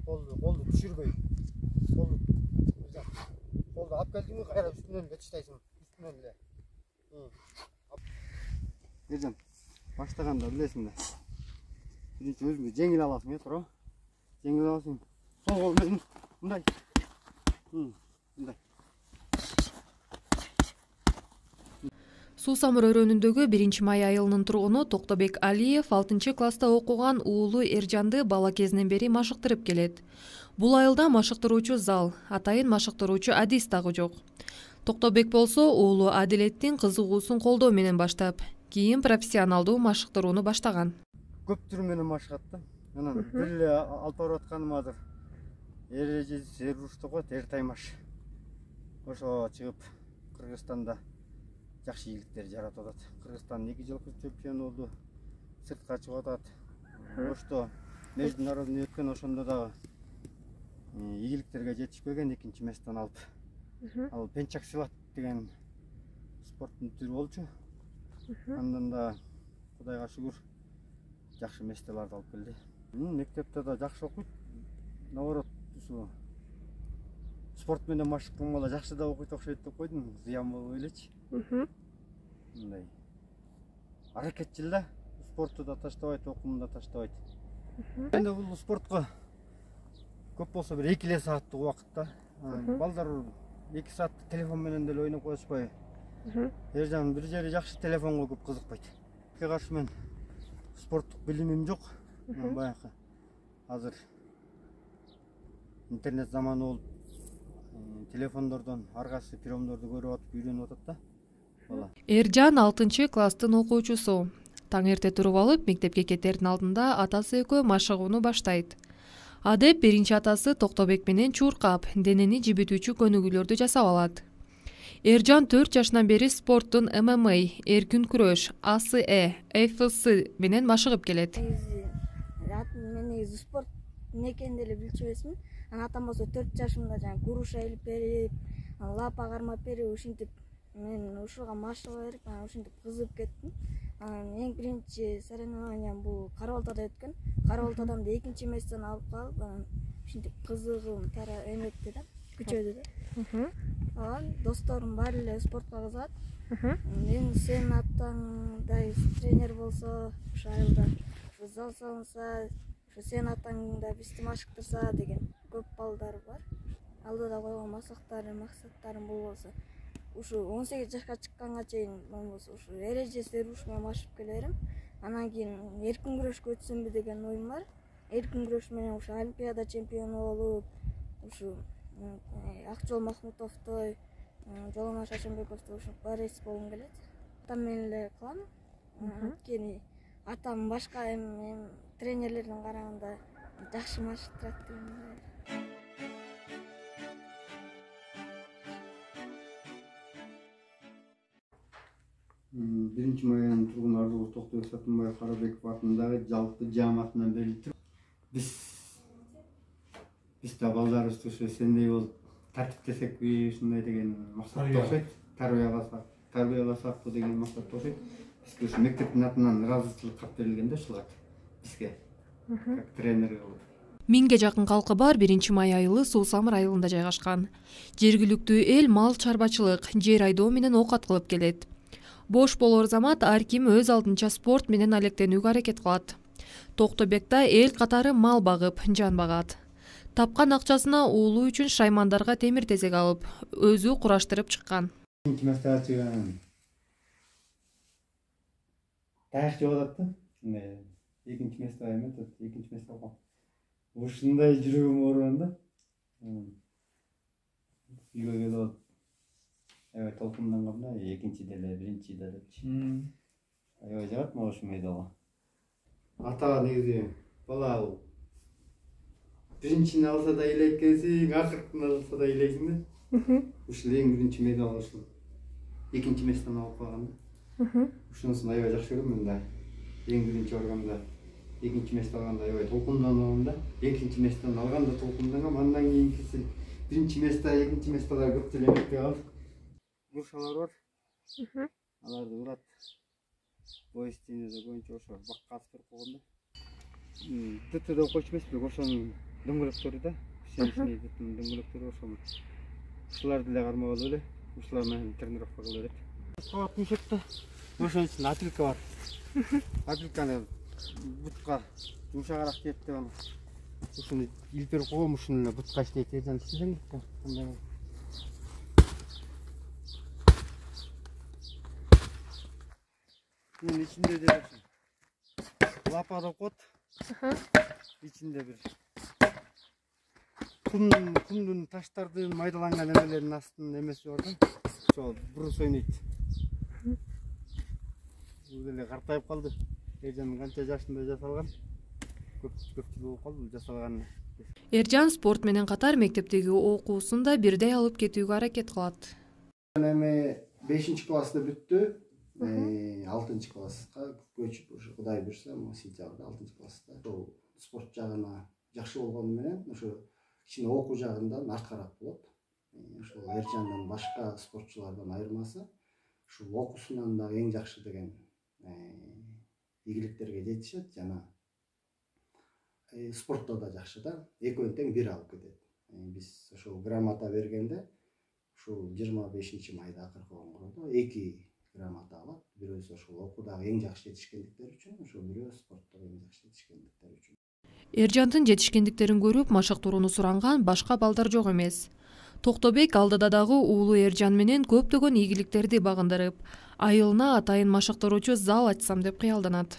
Koldu düşürmeyin. Koldu ap geldiğinde kayra üstünden de çıtaysın. Üstünden de. Ercan, başlaganda bilesиң да. Birinchi өзүңдү жеңил аласың, туура? Жеңил аласың. Сол кол менен мындай. Мындай. Суусамыр өрөөнүндөгү 1-май айылынын тургуну Токтобек Алиев 6-класста окуган уулу Эржанды бала кезинен бери машыктырып келет. Бул айылда машыктыруучу зал, атайын машыктыруучу Адис дагы жок. Токтобек болсо уулу Адилеттин кызыгуусун колдоо менен баштап, кийин профессионалдуу машыктырууну баштаган. Көп түр менен машыгат да. Анан бир эле алып барып атканым азыр эрежеси сервиш деп коет, эртаймаш. Ошо чыгып Кыргызстанда жакшы ийгиликтер жаратып атат. Кыргызстан 2 жылкы чемпион болду. Сыртка чыгып атат. Ошто международный өткөн, ошондо дагы ийгиликтерге жетишпеген 2-местен алып. Ал пенчак силат деген спорттун түрү болчу. Андан да Кудайга шүгүр жакшы местелерди алып келди. Мектепте да жакшы окуйт. Наоборот, ушу спорт менен машыктын бала жакшы да окуйт окшойт деп койдум, зыян болбой элечи. Мындай аракетчил да, спортту да таштабайт, окуумду да таштабайт. Эми бул спортко көп болсо бир 2 сааттык убакытта. Балдар 2 саатты телефон менен деле ойноп коюшпай. Эржан бир жери жакшы телефонго көп кызыкпайт. Каршы мен спорттук билимим жок. Баягы азыр интернет заманы болуп, телефондордон ар кайсы приемдорду көрүп атып үйрөнүп атат да. Бала. Эржан 6-класстын окуучусу. Таң эрте туруп алып, мектепке кетердин алдында атасы экөө машыгууну баштайт. Адеп биринчи атасы Токтобек менен чуркап, денени жибитүүчү көнүгүүлөрдү жасап алат. Эржан 4 жашынан бери спорттун ММА, эркин күрөш, АСЭ, ФС менен машыгып келет. Мен негизи спорт эмне экенин деле билчү эмесмин. Атам болсо 4 жашымда жаңы груша илип берип, лапа кармап берип, ушинтип мен ушуга машыга берип, ушинтип кызыгып кеттим. Эң биринчи соревнованиям бул Кара-Балтада өткөн. Кара-Балтадан да 2-местен алып калып, ушинтип кызыгым эметти да, күчөдү да. Досторум баары эле спортко кызыгат. Мен сен атаңдай тренер болсо, ошо айылда зал салынса, ошо сен атаңда бизди машыктырса деген көп балдар бар. Алдыда койгон максаттарым бул болсо, ушу 18 жашка чыкканга чейин болсо ушу эреже сервиш менен машыгып келерим. Анан кийин эркин күрөшкө өтсөмбү деген оюм бар. Эркин күрөш менен ушу Олимпиада чемпиону болуп, ушу Акжол Махмутовдой, Жоломаш Ашембековдой ушу борец болгум келет. Атам менен эле кылам. Анткени атам башка тренерлердин караганда жакшы машыктырат деп ойлойм. 1-май айынын тургуну Ардулов Токтобек Сатынбаев Карабеков атындагы жалпы жааматынан берилип, биз да балдарыбызды ушу сендей болуп тартиптесекпи, ушундай деген максатта окшойт. Тарбияласакпы деген максатта окшойт. Бизге ушу мектептин атынан ыраазычылык кат берилген да ушуга бизге как тренерге болуп. 1000ге жакын калкы бар 1-май айылы Суусамыр айылында жайгашкан. Жергиликтүү эл мал чарбачылык, жер айдоо менен оокат кылып келет. Бош болор замат ар ким өз алдынча спорт менен алектенүүгө аракет кылат. Токтобекта эл катары мал багып, жан багат. Тапкан акчасына уулу үчүн шаймандарга темир тезек алып, өзү кураштырып чыккан. Таяк жеп атат да. 2-месте эметет, 2-месте алган. Ушундай жүрөгүм ооруган да. Үйгө келип аябай толкундангам да, экинчи деле, биринчи делечи. Аябай жагат мага ушул медалга. Ата негизи бала биринчини алса да ыйлайт экенсиң, акыркын алса да ыйлайсың да. Ушул эң биринчи медал ушул 2-местен алып калган да. Ушунусун аябай жакшы көрөм мен да. Эң биринчи барганда 2-месте алганда аябай толкунданам да. 2-местен алганда толкундангам, андан кийинкиси 1-месте, 2-местелер көп деле эметпей калды. Грушалар бар. Аларды урат. Боюстинеде боюнча ошо бакка асып берип койгон да. ДТде окуучу эмес, бирок ошонун дөңгөлөктөрү да, сеничный дөңгөлөктөрү ошол. Ушуларды эле кармап алып эле, ушулар менен тренировка кыла берет. Кабат мушекте ошонун ичинде апилка бар. Апилканы бутка жумшагыраак тиет деп аны. Ушуну илперип койгом, ушуну эле бутка иштейт, Эржан иштесең бутка. Bunun içinde de lapa da kot. İçinde bir kumdun taştardığın maydalangan emelerin aslında emesi oradan. Şol burus oynaydı. Bu böyle kartayıp kaldı. Ercan'ın kança yaşında jasalgan. Köpçülük болуп kaldı jasalgan. Эржан спорт менен катар мектептеги окуусун да бирдей алып кетүүгө аракет кылат. Эми 5 класста бүттү. 6 класска көчүп ушу Кудай буйрса, сентябрда 6 класста. Ошол спорт жагына жакшы болгону менен ошо кичине окуу жагынан арткараак болот. Ошол Эржандан башка спортчулардан айырмасы ушул окуусунан да эң жакшы деген ийгиликтерге жетишет жана спортто да жакшы да. Экөөнү тең бир алып кетет. Биз ошол грамота бергенде ушул 25 майда акыркы коңгурда 2 грамота алат. Бирөөсү ошол окуудагы эң жакшы жетишкендиктер үчүн, ошол бирөө спорттогу эң жакшы жетишкендиктер үчүн. Эржандын жетишкендиктерин көрүп машыктырууну суранган башка балдар жок эмес. Токтобек алдыда дагы уулу Эржан менен көптөгөн ийгиликтерди багындырып, айылына атайын машыктыруучу зал ачсам деп кыялданат.